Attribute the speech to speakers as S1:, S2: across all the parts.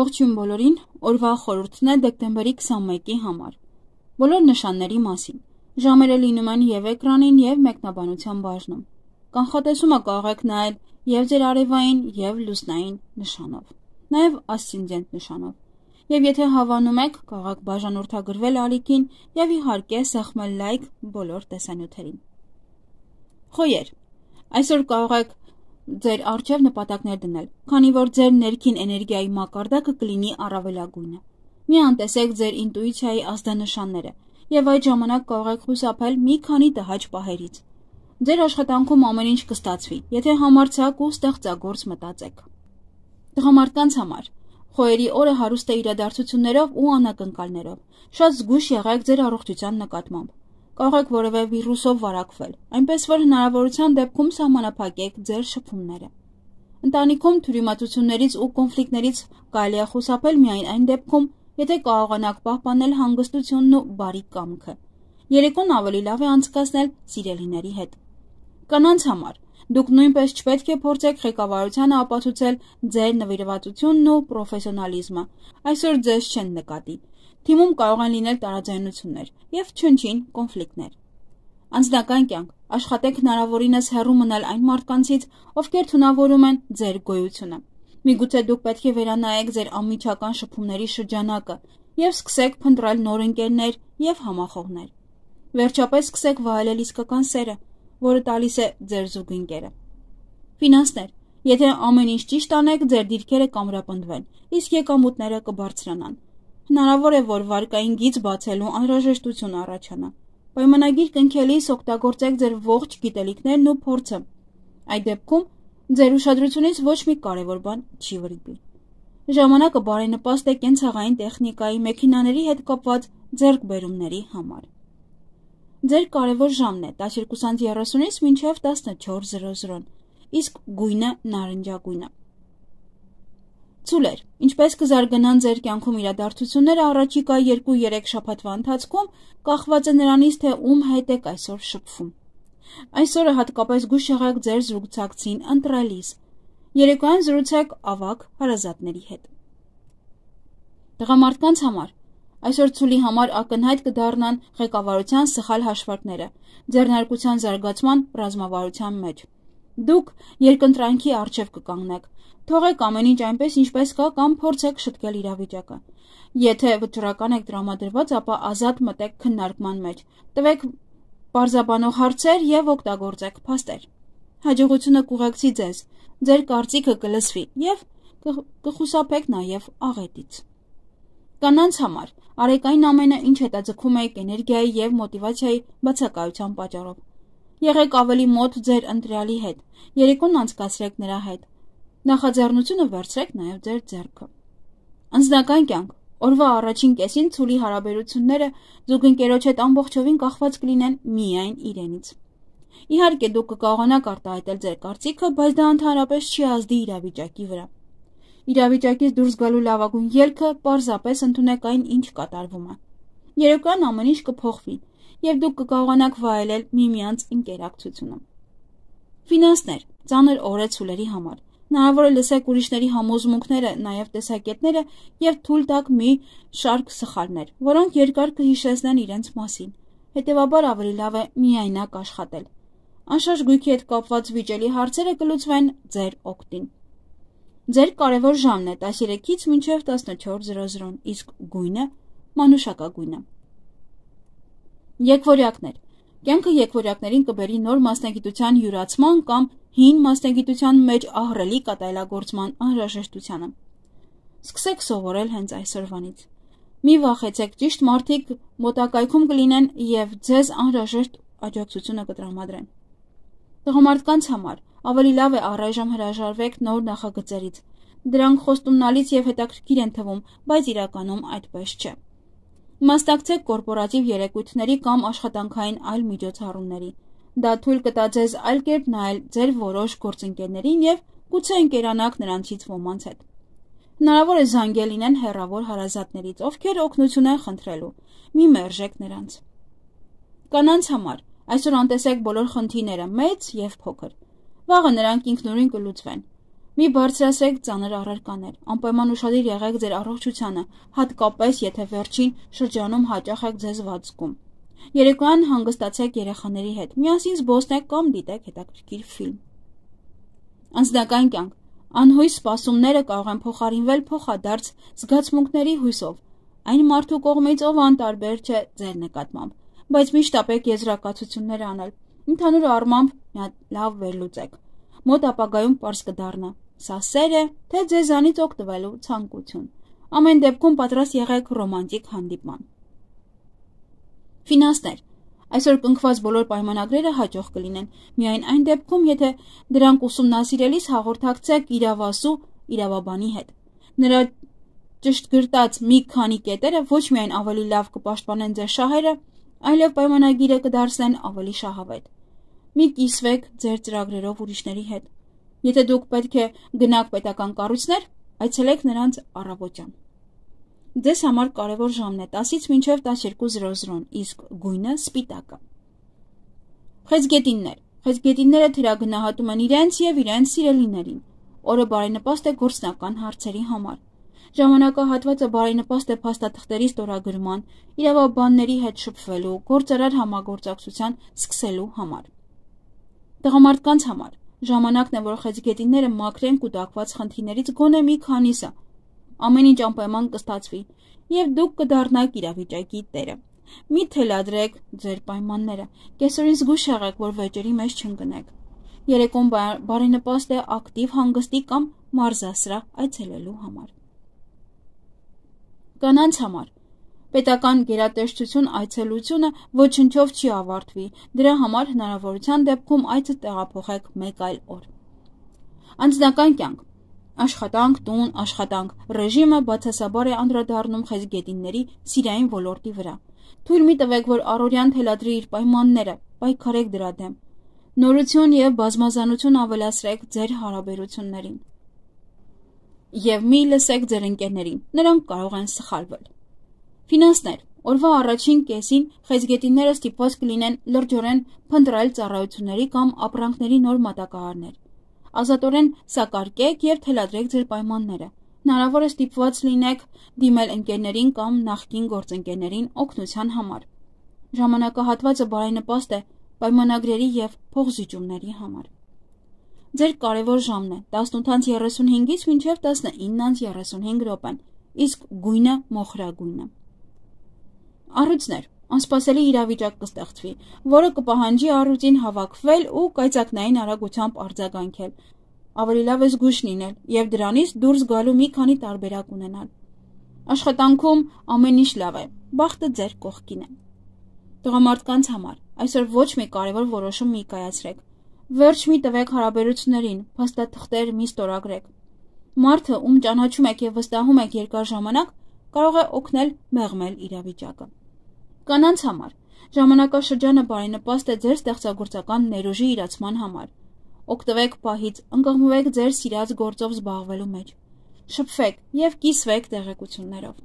S1: Ողջույն բոլորին, օրվա խորհուրդն է դեկտեմբերի 21-ի համար։ Բոլոր նշանների մասին։ Ժամերը լինում են և էկրանին, և մեկնաբանության բաժնում։ Կանխատեսումը կարող եք նայել և ձեր արևային, և լուսնային նշանով, նաև ասցենդենտ նշանով։ Եվ եթե հավանում եք, կարող եք բաժանորդագրվել ալիքին և իհարկե սեղմել լայք բոլոր տեսանյութերին։ Խոյեր, այսօր կարող եք ձեր առջև նպատակներ դնել, քանի որ ձեր ներքին էներգիայի մակարդակը կլինի առավելագույնը։ Մի անտեսեք ձեր ինտուիցիայի ազդանշանները և այդ ժամանակ կարող եք խուսափել մի քանի տհաճ պահերից։ Ձեր աշխատանքում ամեն ինչ կստացվի, եթե համարձակ ու ստեղծագործ մտածեք։ Տղամարդկանց համար խոյերի օրը հարուստ է իրադարձություններով ու անակնկալներով։ Շատ զգույշ եղեք ձեր առողջության նկատմամբ։ Կարող եք որևէ վիրուսով վարակվել, այնպես որ հնարավորության դեպքում սահմանափակեք ձեր շփումները։ Ընտանիքում թյուրիմացություններից ու կոնֆլիկտներից կարելի է խուսափել միայն այն դեպքում, եթե կարողանաք պահպանել հանգստությունն ու բարի կամքը։ Երեկոն ավելի լավ է անցկացնել սիրելիների հետ։ Կանանց համար դուք նույնպես չպետք է փորձեք ղեկավարությանը ապացուցել ձեր նվիրվածությունն ու պրոֆեսիոնալիզմը։ Այսօր ձեզ չեն նկատի։ Թիմում կարող են լինել տարաձայնություններ և չնչին կոնֆլիկտներ։ Անձնական կյանք աշխատեք հնարավորինս հեռու մնալ այն մարդկանցից, ովքեր թունավորում են ձեր գոյությունը։ Միգուցե դուք պետք է վերանայեք ձեր անմիջական շփումների շրջանակը և սկսեք փնտրել նոր ընկերներ և համախոհներ։ Վերջապես սկսեք վայելել իսկական սերը, որը տալիս է ձեր զուգընկերը։ Ֆինանսներ։ Եթե ամեն ինչ ճիշտ անեք, ձեր դիրքերը կամրապնդվեն, իսկ եկամուտները կբարձրանան։ Հնարավոր է, որ վարկային գիծ բացելու անհրաժեշտություն առաջանա։ Պայմանագիր կնքելիս օգտագործեք ձեր ողջ գիտելիքներն ու փորձը։ Այդ դեպքում ձեր ուշադրությունից ոչ մի կարևոր բան չի վրիպի։ Ժամանակը բարենպաստ է կենցաղային տեխնիկայի, մեքենաների հետ կապված ձեռքբերումների համար։ Ձեր կարևոր ժամն է 12:30-ից մինչև 14:00, իսկ գույնը նարնջագույնը։ Ցուլեր, ինչպես կզարգանան ձեր կյանքում իրադարձությունները առաջիկա 2-3 շաբաթվա ընթացքում, կախված է նրանից, թե ում հետ եք այսօր շփվում։ Այսօրը հատկապես զգույշ եղեք ձեր զրուցակցին ընտրելիս։ Երեկոյան զրուցեք ավագ հարազատների հետ։ Տղամարդկանց համար այսօր ցուլի համար ակնհայտ կդառնան ղեկավարության սխալ հաշվարկները, ձեռնարկության զարգացման ռազմավարության մեջ։ Դուք երկընտրանքի առջև կկանգնեք։ Թողեք ամեն ինչ այնպես, ինչպես կա, կամ փորձեք շտկել իրավիճակը։ Եթե վճռական եք տրամադրված, ապա ազատ մտեք քննարկման մեջ։ Տվեք պարզաբանող հարցեր և օգտագործեք փաստեր։ Հաջողությունը կուղեկցի ձեզ, ձեր կարծիքը կլսվի և կխուսափեք նաև աղետից։ Կանանց համար արեք այն ամենը, ինչ հետաձգում եք էներգիայի և մոտիվացիայի բացակայության պատճառով։ Եղեք ավելի մոտ ձեր ընտրյալի հետ, երեկոն անցկացրեք նրա հետ։ Նախաձեռնությունը վերցրեք նաև ձեր ձեռքը։ Անձնական կյանք օրվա առաջին կեսին ցուլի հարաբերությունները զուգընկերոջ հետ ամբողջովին կախված կլինեն միայն իրենից։ Իհարկե դուք կկարողանաք արտահայտել ձեր կարծիքը, բայց դա ընդհանրապես չի ազդի իրավիճակի վրա։ Իրավիճակից դուրս գալու լավագույն ելքը պարզապես ընդունեք այն, ինչ կատարվում է։ Երեկոյան ամեն ինչ կփոխվի, և դուք կկարողանաք վայելել միմյանց ընկերակցությունը։ Ֆինանսներ, ծանր օր է ցուլերի համար։ Հնարավոր է լսեք ուրիշների համոզմունքները, նաև տեսակետները և թույլ տաք մի շարք սխալներ, որոնք երկար կհիշեցնեն իրենց մասին։ Հետևաբար ավելի լավ է միայնակ աշխատել։ Անշարժ գույքի հետ կապված վիճելի հարցերը կլուծվեն ձեր օգտին։ Ձեր կարևոր ժամն է 13-ից մինչև 14:00, իսկ գույնը մանուշակագույնը։ Եկվորյակներ։ Կյանքը եկվորյակներին կբերի նոր մասնագիտության յուրացման կամ հին մասնագիտության մեջ ահռելի կատարելագործման անհրաժեշտությանը։ Սկսեք սովորել հենց այսօրվանից։ Մի վախեցեք, ճիշտ մարդիկ մոտակայքում կլինեն և ձեզ անհրաժեշտ աջակցությունը կտրամադրեն։ Տղամարդկանց համար ավելի լավ է առայժմ հրաժարվեք նոր նախագծերից։ Դրանք խոստումնալից և հետաքրքիր են թվում, բայց իրականում այդպես չէ։ Մասնակցեք կորպորատիվ երեկույթների կամ աշխատանքային այլ միջոցառումների։ Դա թույլ կտա ձեզ այլ կերպ նայել ձեր որոշ գործընկերներին և գուցե ընկերանաք նրանցից ոմանց հետ։ Հնարավոր է զանգել լինեն հեռավոր հարազատներից, ովքեր օգնություն են խնդրելու։ Մի մերժեք նրանց։ Կանանց համար այսօր անտեսեք բոլոր խնդիրները, մեծ և փոքր։ Վաղը նրանք ինքնուրույն կլուծվեն։ Մի բարձրացրեք ծանր առարկաներ, անպայման ուշադիր եղեք ձեր առողջությանը, հատկապես եթե վերջին շրջանում հաճախ եք ձեզ վատ զգում։ Երեկոյան հանգստացեք երեխաների հետ, միասին զբոսնեք կամ դիտեք հետաքրքիր ֆիլմ։ Անձնական կյանք։ Անհույս սպասումները կարող են փոխարինվել փոխադարձ զգացմունքների հույսով, այն մարդու կողմից, ով անտարբեր չէ ձեր նկատմամբ, բայց միշտ ապեք եզրակացություններ անել։ Ընդհանուր առմամբ մի հատ լավ վերլուծեք։ Մոտ ապագայում պարզ կդառնա, սա սեր է, թե ձեզանից օգտվելու ցանկություն։ Ամեն դեպքում պատրաստ եղեք ռոմանտիկ հանդիպման։ Ֆինանսներ։ Այսօր կնքված բոլոր պայմանագրերը հաջող կլինեն, միայն այն դեպքում, եթե դրանք ուսումնասիրելիս հաղորդակցեք իրավասու իրավաբանի հետ։ Նրա ճշտգրտած մի քանի կետերը ոչ միայն ավելի լավ կպաշտպանեն ձեր շահերը, այլև պայմանագիրը կդարձնեն ավելի շահավետ։ Մի կիսվեք ձեր ծրագրերով ուրիշների հետ։ Եթե դուք պետք է գնաք պետական կառույցներ, այցելեք նրանց առավոտյան։ Ձեզ համար կարևոր ժամն է 10-ից մինչև 12:00, իսկ գույնը սպիտակը։ Խեցգետիններ։ Խեցգետինները թիրագնահատում են իրենց և իրենց սիրելիներին։ Օրը բարենպաստ է գործնական հարցերի համար։ Ժամանակահատվածը բարենպաստ է փաստաթղթերի ստորագրման, իրավաբանների հետ շփվելու, գործարար համագործակցության սկսելու համար։ Տղամարդկանց համար ժամանակն է, որ խեցգետինները մաքրեն կուտակված խնդիրներից գոնե մի քանիսը։ Ամեն ինչ անպայման կստացվի, և դուք կդառնաք իրավիճակի տերը։ Մի թելադրեք ձեր պայմանները, կեսօրին զգույշ եղեք, որ վեճերի մեջ չընկնեք։ Երեկոն բարենպաստ է ակտիվ հանգստի կամ մարզասրահ այցելելու համար։ Կանանց համար պետական գերատեսչություն այցելությունը ոչնչով չի ավարտվի, դրա համար հնարավորության դեպքում այցը տեղափոխեք մեկ այլ օր։ Անձնական կյանք։ Աշխատանք, տուն, աշխատանք, ռեժիմը բացասաբար է անդրադառնում խեցգետինների սիրային ոլորտի վրա։ Թույլ մի տվեք, որ առօրյան թելադրի իր պայմանները, պայքարեք դրա դեմ։ Նորություն և բազմազանություն ավելացրեք ձեր հարաբերություններին։ Եվ մի լսեք ձեր ընկերներին, նրանք կարող են սխալվել։ Ֆինանսներ։ Օրվա առաջին կեսին խեցգետինները ստիպված կլինեն լրջորեն փնտրել ծառայությունների կամ ապրանքների նոր մատակարարներ։ Ազատորեն սակարկեք և թելադրեք ձեր պայմանները։ Հնարավոր է ստիպված լինեք դիմել ընկերներին կամ նախկին գործընկերներին օգնության համար։ Ժամանակահատվածը բարենպաստ է պայմանագրերի և փոխզիջումների համար։ Ձեր կարևոր ժամն է 18:35-ից մինչև 19:35 րոպեն, իսկ գույնը մոխրագույնը։ Առույցներ։ Անսպասելի իրավիճակ կստեղծվի, որը կպահանջի առույցին հավաքվել ու կայծակնային արագությամբ արձագանքել։ Ավելի լավ է զգույշ լինել և դրանից դուրս գալու մի քանի տարբերակ ունենալ։ Աշխատանքում ամեն ինչ լավ է, բախտը ձեր կողքին է։ Տղամարդկանց համար այսօր ոչ մի կարևոր որոշում մի կայացրեք։ Վերջ մի տվեք հարաբերություններին, փաստաթղթեր մի ստորագրեք։ Մարդը, ում ճանաչում եք և վստահում եք երկար ժամանակ, կարող է օգնել մեղմել իրավիճակը։ Կանանց համար ժամանակաշրջանը բարենպաստ է ձեր ստեղծագործական ներուժի իրացման համար։ Օգտվեք պահից, ընկղմվեք ձեր սիրած գործով զբաղվելու մեջ։ Շփվեք և կիսվեք տեղեկություններով։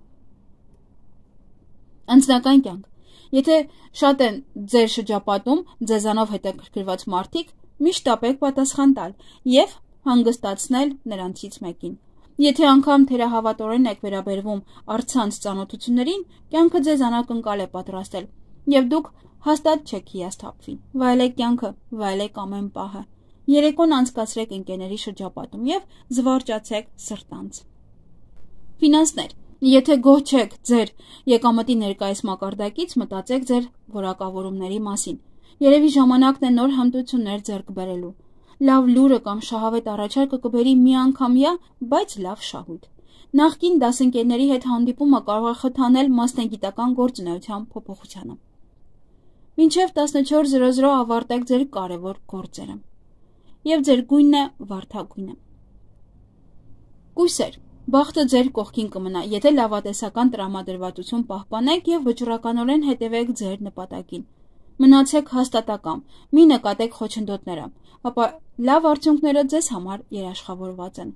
S1: Անձնական կյանք։ Եթե շատ են ձեր շրջապատում ձեզանով հետաքրքրված մարդիկ, միշտ ապեք պատասխան տալ և հանգստացնել նրանցից մեկին։ Եթե անգամ թերահավատորեն եք վերաբերվում առցանց ծանոթություններին, կյանքը ձեզ անակնկալ է պատրաստել, և դուք հաստատ չեք հիասթափվի։ Վայելեք կյանքը, վայելեք ամեն պահը։ Երեկոն անցկացրեք ընկերների շրջապատում և զվարճացեք սրտանց։ Ֆինանսներ։ Եթե գոհ չեք ձեր եկամտի ներկայիս մակարդակից, մտածեք ձեր որակավորումների մասին։ Երևի ժամանակն է նոր հմտություններ ձեռք բերելու։ Լավ լուրը կամ շահավետ առաջարկը կբերի միանգամյա, բայց լավ շահույթ։ Նախկին դասընկերների հետ հանդիպումը կարող է խթանել մասնագիտական գործունեության փոփոխությանը։ Մինչև 14:00 ավարտեք ձեր կարևոր գործերը։ Եվ ձեր գույնն է վարդագույնը։ Կույսեր։ Բախտը ձեր կողքին կմնա, եթե լավատեսական տրամադրվածություն պահպանեք և վճռականորեն հետևեք ձեր նպատակին։ Մնացեք հաստատակամ, մի նկատեք խոչընդոտները, ապա լավ արդյունքները ձեզ համար երաշխավորված են։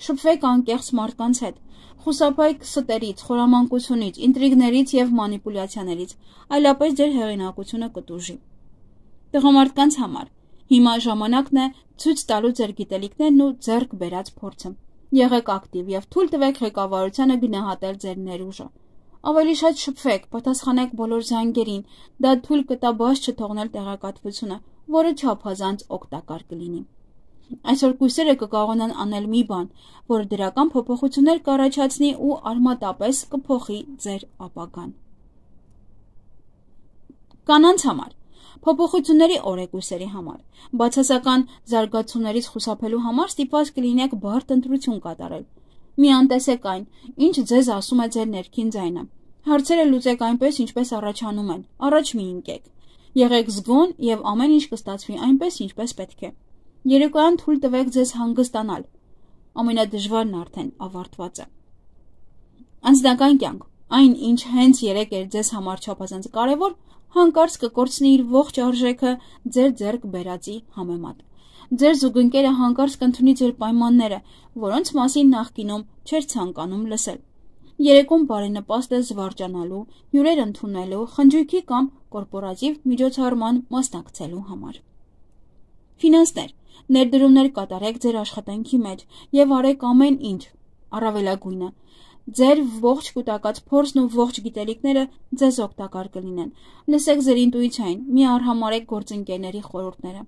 S1: Շփվեք անկեղծ մարդկանց հետ, խուսափեք ստերից, խորամանկությունից, ինտրիգներից և մանիպուլյացիաներից, այլապես ձեր հեղինակությունը կտուժի։ Տղամարդկանց համար Հիմա ժամանակն է ցույց տալու ձեր գիտելիքներն ու ձեռք բերած փորձը։ Եղեք ակտիվ եւ թույլ տվեք ղեկավարությանը գնահատել ձեր ներուժը։ Ավելի շատ շփվեք, պատասխանեք բոլոր զանգերին, դա թույլ կտա բաց չթողնել տեղեկատվությունը, որը չափազանց օգտակար կլինի։ Այսօր կույսերը կկարողանան անել մի բան, որը դրական փոփոխություններ կառաջացնի ու արմատապես կփոխի ձեր ապագան։ Կանանց համար փոփոխությունների օր է կույսերի համար։ Բացասական զարգացումներից խուսափելու համար ստիպված կլինեք բարդ ընտրություն կատարել։ Մի անտեսեք այն, ինչ ձեզ ասում է ձեր ներքին ձայնը։ Հարցերը լուծեք այնպես, ինչպես առաջանում են, առաջ մի ընկեք։ Եղեք զգոն եւ ամեն ինչ կստացվի այնպես, ինչպես պետք է։ Երեկոյան թույլ տվեք ձեզ հանգստանալ։ Ամենադժվարն արդեն ավարտված է։ Անձնական կյանք, այն ինչ հենց երեք էր ձեզ համար չափազանց կարևոր, հանկարծ կկորցնի իր ողջ արժեքը ձեր ձեռք բերածի համեմատ։ Ձեր զուգընկերը հանկարծ կընդունի ձեր պայմանները, որոնց մասին նախկինում չէր ցանկանում լսել։ Երեկոն բարենպաստ է զվարճանալու, հյուրեր ընդունելու, խնջույքի կամ կորպորատիվ միջոցառման մասնակցելու համար։ Ֆինանսներ, ներդրումներ կատարեք ձեր աշխատանքի մեջ եւ արեք ամեն ինչ, առավելագույնը։ Ձեր ողջ կուտակած փորձն ու ողջ գիտելիքները ձեզ օգտակար կլինեն։ Լսեք ձեր ինտուիցիային, մի արհամարեք գործընկերների խորհուրդները։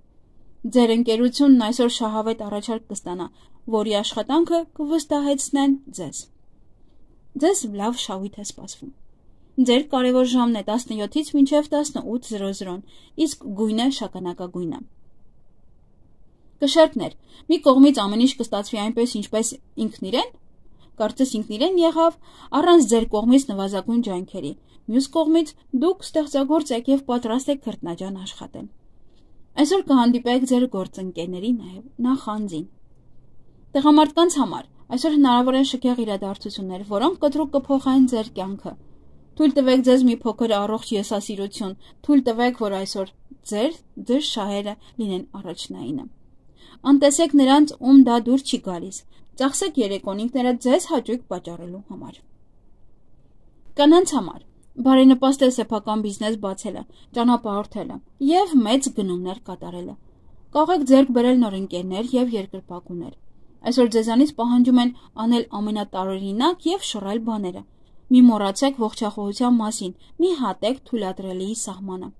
S1: Ձեր ընկերությունն այսօր շահավետ առաջարկ կստանա, որի աշխատանքը կվստահեցնեն ձեզ։ Ձեզ լավ շահույթ է սպասվում։ Ձեր կարևոր ժամն է 17-ից մինչև 18:00, իսկ գույնը շագանակագույնը։ Կշերտներ, մի կողմից ամեն ինչ կստացվի այնպես, ինչպես ինքն իրեն, կարծես ինքն իրեն եղավ, առանց ձեր կողմից նվազագույն ջանքերի, մյուս կողմից դուք ստեղծագործ եք եւ պատրաստ եք քրտնաջան աշխատել։ Այսօր կհանդիպեք ձեր գործընկերների նաև նախանձին։ Տղամարդկանց համար այսօր հնարավոր են շքեղ իրադարձություններ, որոնք կտրուկ կփոխեն ձեր կյանքը։ Թույլ տվեք ձեզ մի փոքր առողջ եսասիրություն, թույլ տվեք, որ այսօր ձեր շահերը լինեն առաջնայինը։ Անտեսեք նրանց, ում դա դուր չի գալիս։ Ծախսեք երեկոն ինքներդ ձեզ հաճույք պատճառելու համար։ Կանանց համար բարենպաստ է սեփական բիզնես բացելը, ճանապարհորդելը եւ մեծ գնումներ կատարելը։ Կարող եք ձեռք բերել նոր ընկերներ եւ երկրպագուներ։ Այսօր ձեզանից պահանջում են անել ամենատարօրինակ եւ շռայլ բաները։ Մի մոռացեք ողջախոհության մասին, մի հատեք թույլատրելիի սահմանը։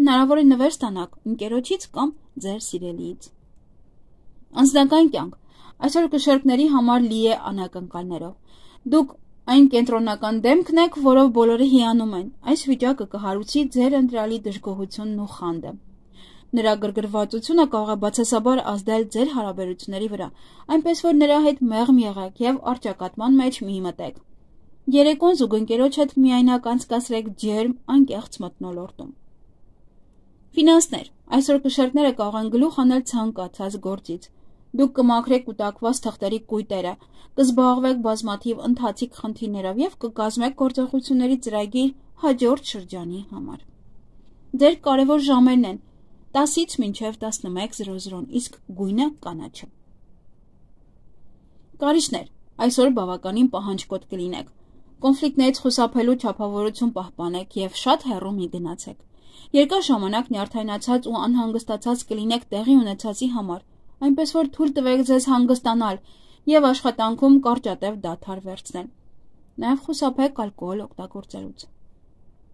S1: Հնարավոր է նվեր ստանաք ընկերոջից կամ ձեր սիրելիից։ Անձնական կյանք այսօր կշերկների համար լի է անակնկալներով։ Դուք այն կենտրոնական դեմքն եք, որով բոլորը հիանում են։ Այս վիճակը կհարուցի ձեր ընտրյալի դժգոհությունն ու խանդը։ Նրա գրգռվածությունը կարող է բացասաբար ազդել ձեր հարաբերությունների վրա, այնպես որ նրա հետ մեղմ եղեք եւ առճակատման մեջ մի մտեք։ Երեկոն զուգընկերոջ հետ միայնակ անցկացրեք ջերմ, անկեղծ մթնոլորտում։ Ֆինանսներ այսօր կշերկները կարող են գլուխ անել ցանկացած գործից։ Դուք կմաքրեք կուտակված թղթերի կույտերը, կզբաղվեք բազմաթիվ ընթացիկ խնդիրներով եւ կկազմեք գործողությունների ծրագիր հաջորդ շրջանի համար։ Ձեր կարևոր ժամերն են 10-ից մինչև 11:00, իսկ գույնը կանաչը։ Կարիճներ այսօր բավականին պահանջկոտ կլինեք։ Կոնֆլիկտներից խուսափելու չափավորություն պահպանեք եւ շատ հեռու մի գնացեք։ Երկար ժամանակ նյարդայնացած ու անհանգստացած կլինեք տեղի ունեցածի համար, այնպես որ թույլ տվեք ձեզ հանգստանալ եւ աշխատանքում կարճատև դադար վերցնել։ Նաեւ խուսափեք ալկոհոլ օգտագործելուց։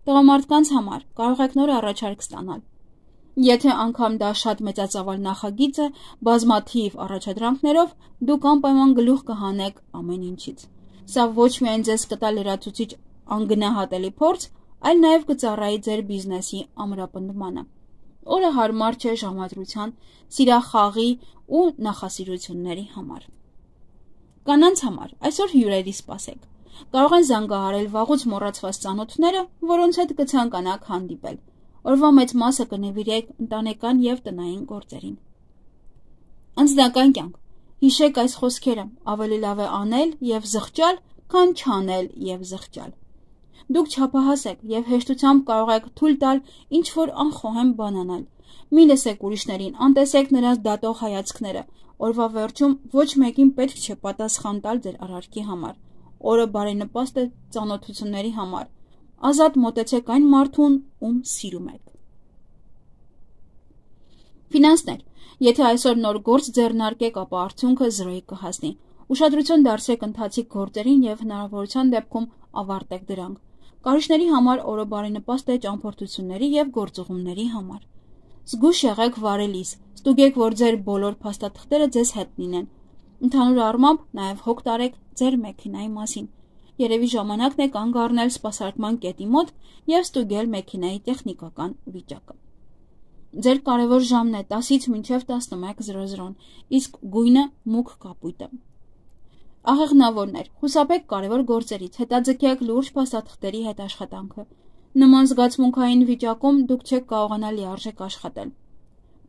S1: Տղամարդկանց համար կարող եք նոր առաջարկ ստանալ։ Եթե անգամ դա շատ մեծածավալ նախագիծ է, բազմաթիվ առաջադրանքներով դուք անպայման գլուխ կհանեք ամեն ինչից։ Սա ոչ միայն ձեզ կտա լրացուցիչ անգնահատելի փորձ, այլ նաև կծառայի ձեր բիզնեսի ամրապնդմանը։ Օրը հարմար չէ ժամադրության, սիրախաղի ու նախասիրությունների համար։ Կանանց համար այսօր հյուրերի սպասեք։ Կարող են զանգահարել վաղուց մոռացված ծանոթները, որոնց հետ կցանկանաք հանդիպել։ Օրվա մեծ մասը կնվիրեք ընտանեկան եւ տնային գործերին։ Անձնական կյանք։ Հիշեք այս խոսքերը, ավելի լավ է անել եւ զղջալ, քան չանել եւ զղջալ։ Դուք չափահաս եք եւ հեշտությամբ կարող եք թույլ տալ ինչ-որ անխոհեմ բան անել։ Մի լսեք ուրիշներին, անտեսեք նրանց դատող հայացքները։ Օրվա վերջում ոչ մեկին պետք չէ պատասխան տալ ձեր արարքի համար։ Օրը բարենպաստ է ծանոթությունների համար։ Ազատ մոտեցեք այն մարդուն, ում սիրում եք։ Ֆինանսներ, եթե այսօր նոր գործ ձեռնարկեք, ապա արդյունքը 0-ի կհասնի։ Ուշադրություն դարձրեք ընթացիկ գործերին եւ հնարավորության դեպքում ավարտեք դրանք։ Կարիճների համար օրը բարենպաստ է ճամփորդությունների եւ գործուղումների համար։ Զգույշ եղեք վարելիս, ստուգեք, որ ձեր բոլոր փաստաթղթերը ձեզ հետ լինեն։ Ընդհանուր առմամբ նաև հոգ տարեք ձեր մեքենայի մասին։ Երևի ժամանակն է կանգ առնել սպասարկման կետի մոտ եւ ստուգել մեքենայի տեխնիկական վիճակը։ Ձեր կարևոր ժամն է 10-ից մինչև 11:00, իսկ գույնը մուգ կապույտը։ Աղեղնավորներ, խուսափեք կարևոր գործերից, հետաձգեք լուրջ փաստաթղթերի հետ աշխատանքը։ Նման զգացմունքային վիճակում դուք չեք կարողանա լիարժեք աշխատել։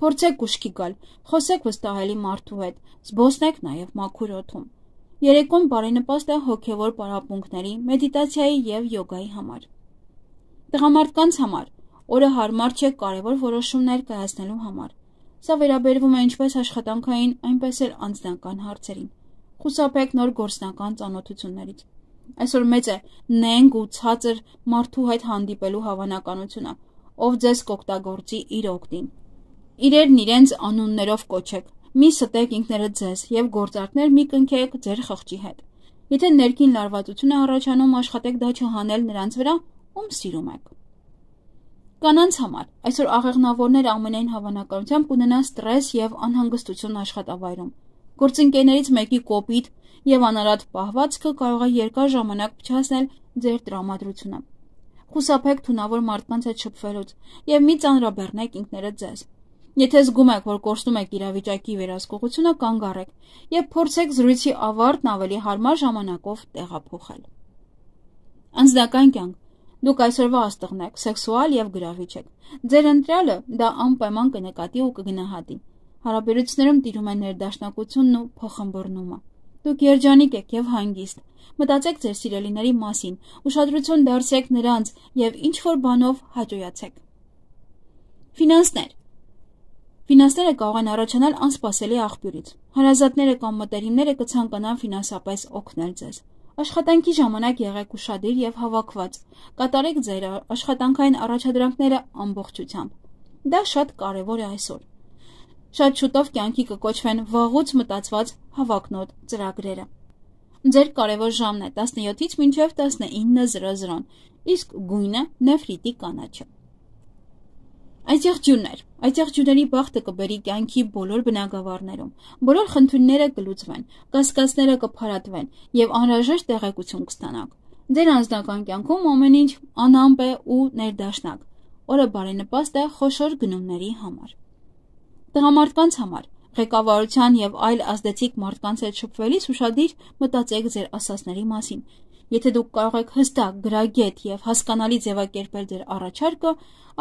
S1: Փորձեք ուշքի գալ, խոսեք վստահելի մարդու հետ, զբոսնեք նաև մաքուր օդում։ Երեկոն բարենպաստ է հոգևոր պարապմունքների, մեդիտացիայի եւ յոգայի համար։ Տղամարդկանց համար օրը հարմար չէ կարևոր որոշումներ կայացնելու համար։ Սա վերաբերվում է ինչպես աշխատանքային, այնպես էլ անձնական հարցերին։ Խուսափեք նոր գործնական ծանոթություններից։ Այսօր մեծ է նենգ ու ցածր մարդու հետ հանդիպելու հավանականությունը, ով ձեզ կօգտագործի իր օգտին։ Իրերն իրենց անուններով կոչեք, մի ստեք ինքներդ ձեզ եւ գործարքներ մի կնքեք ձեր խղճի հետ։ Եթե ներքին լարվածություն է առաջանում, աշխատեք դա չհանել նրանց վրա, ում սիրում եք։ Կանանց համար այսօր աղեղնավորները ամենայն հավանականությամբ կունենան ստրես եւ անհանգստություն աշխատավայրում։ Գործընկերներից մեկի կոպիտ եւ անարատ պահվածքը կարող է երկար ժամանակ փչացնել ձեր տրամադրությունը։ Խուսափեք թունավոր մարդկանց հետ շփվելուց եւ մի ծանրաբեռնեք ինքներդ ձեզ։ Եթե զգում եք, որ կորցնում եք իրավիճակի վերահսկողությունը, կանգ առեք եւ փորձեք զրույցի ավարտն ավելի հարմար ժամանակով տեղափոխել։ Անձնական կյանք։ Դուք այսօրվա աստղն եք, սեքսուալ եւ գրավիչ եք։ Ձեր ընտրյալը դա անպայման կնկատի ու կգնահատի։ Հարաբերություններում տիրում է ներդաշնակությունն ու փոխըմբռնումը։ Դուք երջանիկ եք եւ հանգիստ։ Մտածեք ձեր սիրելիների մասին, ուշադրություն դարձրեք նրանց եւ ինչ-որ բանով հաճոյացեք։ Ֆինանսներ։ Ֆինանսները կարող են առաջանալ անսպասելի աղբյուրից։ Հարազատները կամ մտերիմները կցանկանան ֆինանսապես օգնել ձեզ։ Աշխատանքի ժամանակ եղեք ուշադիր եւ հավաքված։ Կատարեք ձեր աշխատանքային առաջադրանքները ամբողջությամբ։ Դա շատ կարեւոր է այսօր։ Շատ շուտով կյանքի կկոչվեն վաղուց մտածված հավակնոտ ծրագրերը։ Ձեր կարևոր ժամն է 17-ից մինչև 19:00, իսկ գույնը նեֆրիտի կանաչը։ Այծեղջյուրներ։ Այծեղջյուրների բախտը կբերի կյանքի բոլոր բնագավառներում։ Բոլոր խնդիրները կլուծվեն, կասկածները կփարատվեն եւ անհրաժեշտ տեղեկություն կստանաք։ Ձեր անձնական կյանքում ամեն ինչ անամպ է ու ներդաշնակ։ Օրը բարենպաստ է խոշոր գնումների համար։ Տղամարդկանց համար ղեկավարության եւ այլ ազդեցիկ մարդկանց հետ շփվելիս ուշադիր մտածեք ձեր ասածների մասին։ Եթե դուք կարող եք հստակ, գրագետ եւ հասկանալի ձևակերպել ձեր առաջարկը,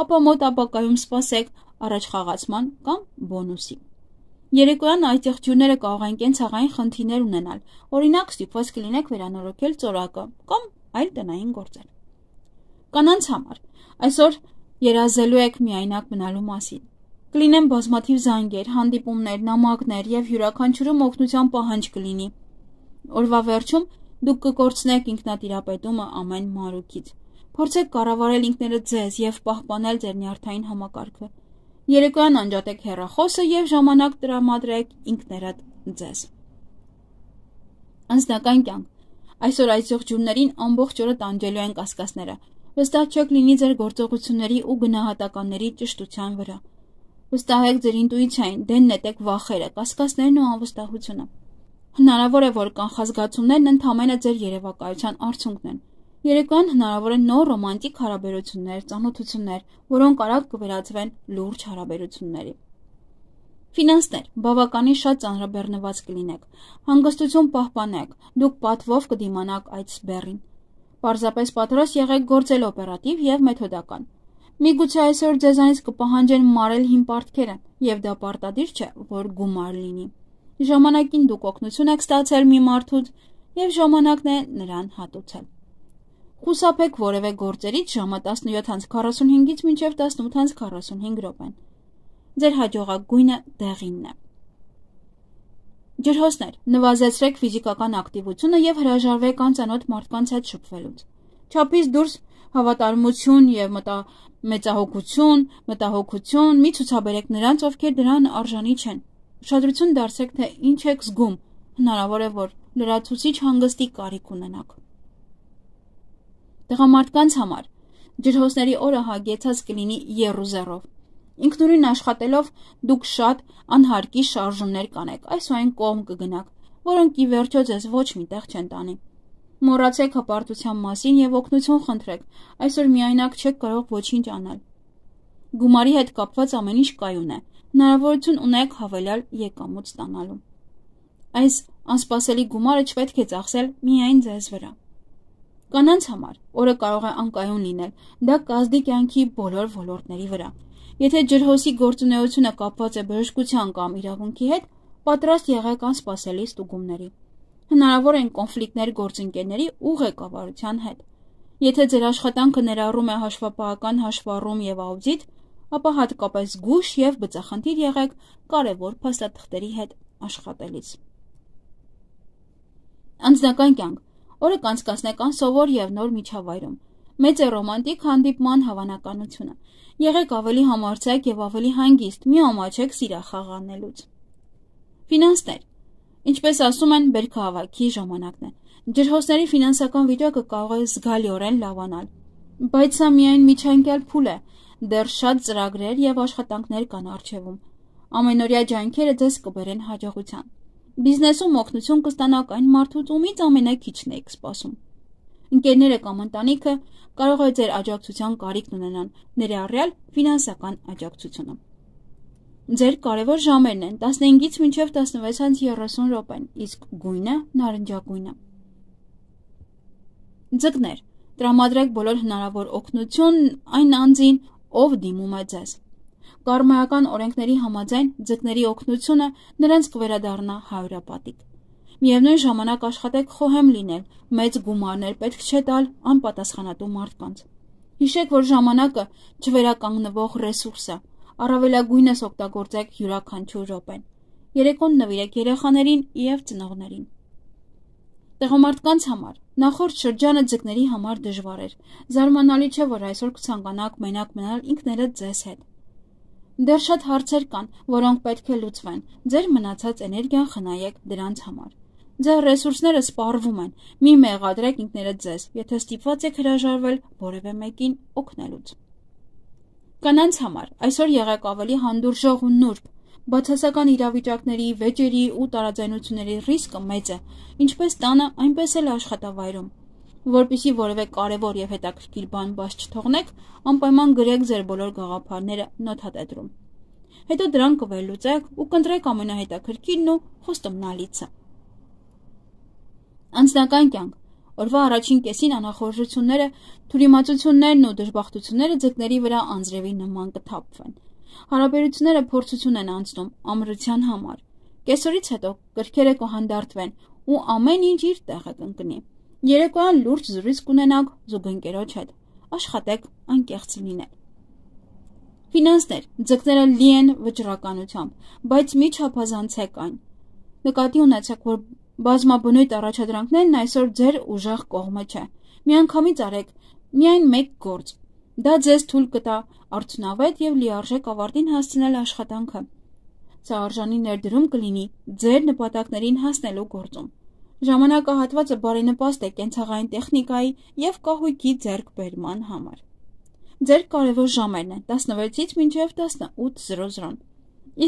S1: ապա մոտ ապագայում սպասեք առաջխաղացման կամ բոնուսի։ Երեկոյան այծեղջյուրները կարող են կենցաղային խնդիրներ ունենալ, օրինակ ստիպված կլինեք վերանորոգել ծորակը կամ այլ տնային գործեր։ Կանանց համար այսօր երազելու եք միայնակ մնալու մասին։ Կլինեն բազմաթիվ զանգեր, հանդիպումներ, նամակներ եւ յուրաքանչյուրում օգնության պահանջ կլինի։ Օրվա վերջում դուք կկորցնեք ինքնատիրապետումը ամեն մանրուքից։ Փորձեք կառավարել ինքներդ ձեզ եւ պահպանել ձեր նյարդային համակարգը։ Երեկոյան անջատեք հեռախոսը եւ ժամանակ տրամադրեք ինքներդ ձեզ։ Անձնական կյանք։ Այսօր այծեղջյուրներին ամբողջ օրը տանջելու են կասկածները։ Վստահ չեք լինի ձեր գործողությունների ու գնահատականների ճշտության վրա։ Վստահեք ձեր ինտուիցիային, դեն նետեք վախերը, կասկածներն ու անվստահությունը։ Հնարավոր է, որ կանխազգացումներն ընդհանրապես ձեր երևակայության արդյունքն են։ Երեկոյան հնարավոր է նոր ռոմանտիկ հարաբերություններ, ծանոթություններ, որոնք արագ կվերածվեն լուրջ հարաբերությունների։ Ֆինանսներ, բավականին շատ ծանրաբեռնված կլինեք։ Հանգստություն պահպանեք, դուք պատվով կդիմանաք այդ սբեռին։ Պարզապես պատրաստ եղեք գործել օպերատիվ եւ մեթոդական։ Միգուցե այսօր ձեզանից կպահանջեն մարել հին պարտքերը, եւ դա պարտադիր չէ, որ գումար լինի։ Ժամանակին դուք օգնություն եք ստացել մի մարդուց եւ ժամանակն է նրան հատուցել։ Խուսափեք որևէ գործերից ժամը 17:45-ից մինչև 18:45 րոպեն։ Ձեր հաջողակ գույնը դեղինն է։ Ջրհոսներ, նվազեցրեք ֆիզիկական ակտիվությունը եւ հրաժարվեք անծանոթ մարդկանց հետ շփվելուց։ Չափից դուրս Հավատարմություն և մտահոգություն, մի ցուցաբերեք նրանց, ովքեր դրան արժանի չեն։ Ուշադրություն դարձրեք, թե ինչ եք զգում, հնարավոր է, որ լրացուցիչ հանգստի կարիք ունենաք։ Տղամարդկանց համար ջրհոսների օրը հագեցած կլինի եռուզեռով։ Ինքնուրույն աշխատելով դուք շատ անհարկի շարժումներ կանեք, այս ու այն կողմ կգնաք, որոնք ի վերջո ձեզ ոչ միտեղ չեն տանի։ Մոռացեք հպարտության մասին և օգնություն խնդրեք, այսօր միայնակ չեք կարող ոչինչ անել։ Գումարի հետ կապված ամեն ինչ կայուն է, հնարավորություն ունեք հավելյալ եկամուտ ստանալու։ Այս անսպասելի գումարը չպետք է ծախսել միայն ձեզ վրա։ Կանանց համար օրը կարող է անկայուն լինել, դա կազդի կյանքի բոլոր ոլորտների վրա։ Եթե ջրհոսի գործունեությունը կապված է բժշկության կամ իրավունքի հետ, պատրաստ եղեք անսպասելի ստուգումների։ Հնարավոր են կոնֆլիկտներ գործընկերների ու ղեկավարության հետ։ Եթե ձեր աշխատանքը ներառում է հաշվապահական հաշվառում և աուդիտ, ապա հատկապես զգույշ և բծախնդիր եղեք կարևոր փաստաթղթերի հետ աշխատելիս։ Անձնական կյանք օրը կանցկացնեք անսովոր և նոր միջավայրում։ Մեծ է ռոմանտիկ հանդիպման հավանականությունը։ Եղեք ավելի համարձակ և ավելի հանգիստ, մի ամաչեք սիրախաղ անելուց։ Ֆինանսներ։ Ինչպես ասում են, բերքահավաքի ժամանակն է։ Ջրհոսների ֆինանսական վիճակը կարող է զգալիորեն լավանալ, բայց սա միայն միջանկյալ փուլ է, դեռ շատ ծրագրեր և աշխատանքներ կան առջևում։ Ամենօրյա ջանքերը ձեզ կբերեն հաջողության։ Բիզնեսում օգնություն կստանաք այն մարդուց, ումից ամենաքիչն եք սպասում։ Ընկերները կամ ընտանիքը կարող է ձեր աջակցության կարիքն ունենան, ներառյալ ֆինանսական աջակցությունը։ Ձեր կարևոր ժամերն են 15-ից մինչև 16:30 րոպեն, իսկ գույնը նարնջագույնը։ Ձկներ, տրամադրեք բոլոր հնարավոր օգնություն այն անձին, ով դիմում է ձեզ։ Կարմայական օրենքների համաձայն ձկների օգնությունը նրանց կվերադառնա հարյուրապատիկ։ Միևնույն ժամանակ աշխատեք խոհեմ լինել, մեծ գումարներ պետք չէ տալ անպատասխանատու մարդկանց։ Հիշեք, որ ժամանակը չվերականգնվող ռեսուրս է, առավելագույնս օգտագործեք յուրաքանչյուր րոպեն։ Երեկոն նվիրեք երեխաներին և ծնողներին։ Տղամարդկանց համար նախորդ շրջանը ձկների համար դժվար էր։ Զարմանալի չէ, որ այսօր կցանկանաք մենակ մնալ ինքներդ ձեզ հետ։ Դեռ շատ հարցեր կան, որոնք պետք է լուծվեն։ Ձեր մնացած էներգիան խնայեք դրանց համար։ Ձեր ռեսուրսները սպառվում են։ Մի մեղադրեք ինքներդ ձեզ, եթե ստիպված եք հրաժարվել որևէ մեկին օգնելուց։ Կանանց համար այսօր եղեք ավելի հանդուրժող ու նուրբ։ Բացասական իրավիճակների, վեճերի ու տարաձայնությունների ռիսկը մեծ է, ինչպես տանը, այնպես էլ աշխատավայրում։ Որպեսզի որևէ կարևոր և հետաքրքիր բան բաց չթողնեք, անպայման գրեք ձեր բոլոր գաղափարները նոթատետրում։ Հետո դրանք կվերլուծեք ու կընտրեք ամենահետաքրքիրն ու խոստումնալիցը։ Անձնական կյանք օրվա առաջին կեսին անախորժությունները, թյուրիմացություններն ու դժբախտությունները ձկների վրա անձրևի նման կթափվեն։ Հարաբերությունները փորձություն են անցնում ամրության համար։ Կեսօրից հետո կրքերը կհանդարտվեն ու ամեն ինչ իր տեղը կընկնի։ Երեկոյան լուրջ զրույց կունենաք զուգընկերոջ հետ։ Աշխատեք անկեղծ լինել։ Ֆինանսներ, ձկները լի են վճռականությամբ, բայց մի չափազանցեք այն։ Նկատի ունեցեք, որ բազմաբնույթ առաջադրանքներն այսօր ձեր ուժեղ կողմը չէ։ Միանգամից արեք միայն մեկ գործ։ Դա ձեզ թույլ կտա արդյունավետ և լիարժեք ավարտին հասցնել աշխատանքը։ Սա արժանի ներդրում կլինի ձեր նպատակներին հասնելու գործում։ Ժամանակահատվածը բարենպաստ է կենցաղային տեխնիկայի և կահույքի ձեռքբերման համար։ Ձեր կարևոր ժամերն են 16-ից մինչև 18:00,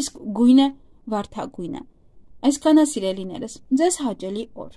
S1: իսկ գույնը վարդագույն է։ Այսքանը սիրելիներս, ձեզ հաճելի օր։